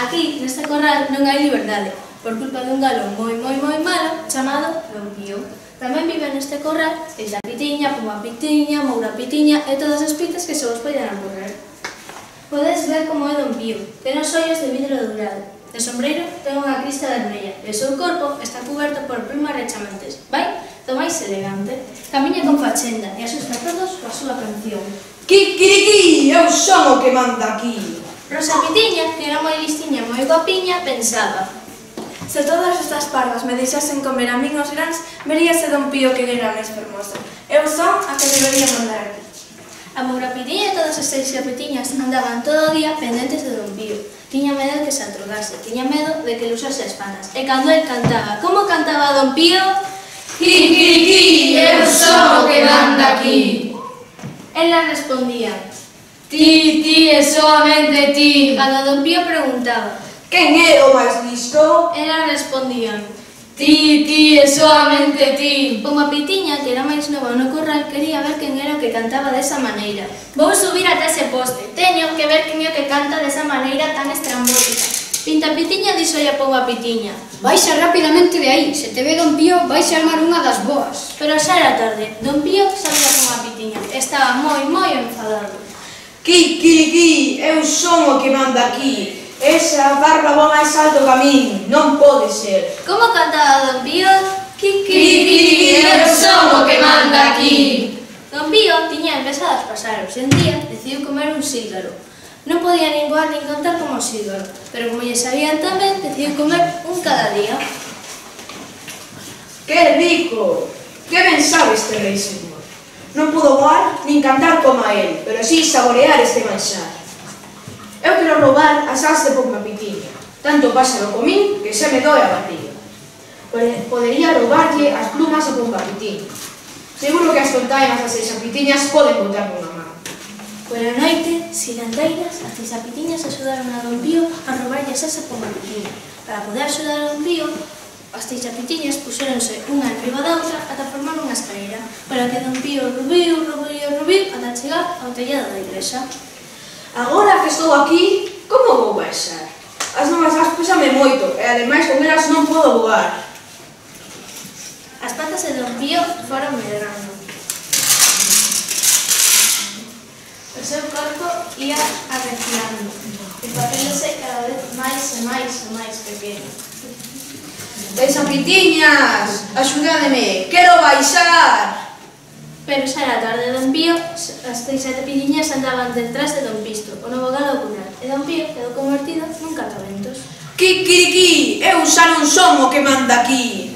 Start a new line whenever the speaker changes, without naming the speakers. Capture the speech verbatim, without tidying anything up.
Aquí, neste corral, non hai liberdade, por culpa dun galo moi, moi, moi malo chamado Don Pío. Tamén vive neste corral Tita Pitiña, Puma Pitiña, Moura Pitiña e todas as pitas que se vos poden ocorrer. Podes ver como é Don Pío, ten os ollos de vidro dourado, de sombreiro ten unha crista vermella e o seu corpo está coberto por plumas rechamantes. Vai do máis elegante, camiña con fachenda e asusta a todos coa súa canción.
Kikiriki, eu son o que manda aquí.
Rosa Pitiña, que era moi listiña e moi guapiña, pensaba:
se todas estas pardas me deixasen comer a min os grans, veríase Don Pío que era máis fermoso. Eu son a que debería mandar aquí.
A Moura Pitiña e todas as seis pitiñas andaban todo o día pendentes de Don Pío. Tiña medo de que se atrogase, tiña medo de que le usase as panas. E cando el cantaba, como cantaba Don Pío?
Kikiriki, eu son o que manda aquí.
Ela respondía:
Ti, ti e soamente ti.
Cando Don Pío preguntaba:
quen é o máis listo?
Ela respondía:
Ti, ti e soamente ti.
Unha pitiña, que era máis nova no corral, quería ver quen era o que cantaba desa maneira. Vou subir ata ese poste, teño que ver quen é o que canta desa maneira tan estrambótica. Pinta Pitiña dixolle a Pouba Pitiña:
baixa rapidamente de aí, se te ve Don Pío, vais a armar unha das boas.
Pero xa era tarde, Don Pío sabía Pouba Pitiña, estaba moi, moi enfadado.
Kikiriki, eu son o que manda aquí. Esa barba va máis alto que a min, non pode ser.
Como cantaba Don Pío?
Kikiriki, eu son o que manda aquí.
Don Pío tiña empezado a pasar e un día decidiu comer un sílgaro. Non podía nin voar nin cantar como o sílgaro, pero como lle sabían tamén, decidiu comer un cada día.
Que rico! Que ben sabe este rei señor. Non pudo voar nin cantar como a él, pero sí saborear este manxar. Eu quero roubar as as de Pouba Pitiña. Tanto páxaro comín que xa me doe a barriga. Podería roubarlle as plumas a Pouba Pitiña. Seguro que as tontainas das seis pitiñas poden botarme unha mano.
Pola noite, silanteiras, as seis pitiñas axudaron a Don Pío a roubarlle as as a Pouba Pitiña. Para poder axudar a Don Pío, as seis pitiñas puxéronse unha enriba da outra ata formar unha escalera, para que Don Pío rubiu, rubiu, rubiu ata chegar ao tellado da igrexa.
Agora que estou aquí, como vou baixar? As novas as pésame moito e ademais con elas non podo voar.
As patas de Don Pío foron medrando. O seu corpo ia arreciando e facéndose cada vez máis e máis e máis pequeno.
Seis pitiñas, axudádeme, quero baixar!
Pero xa era tarde. Don Pío, as seis pitiñas andaban detrás de Don Pisto, o novo galo cural, e Don Pío quedou convertido nun cataventos.
Kikiriki, eu xa non son o que manda aquí.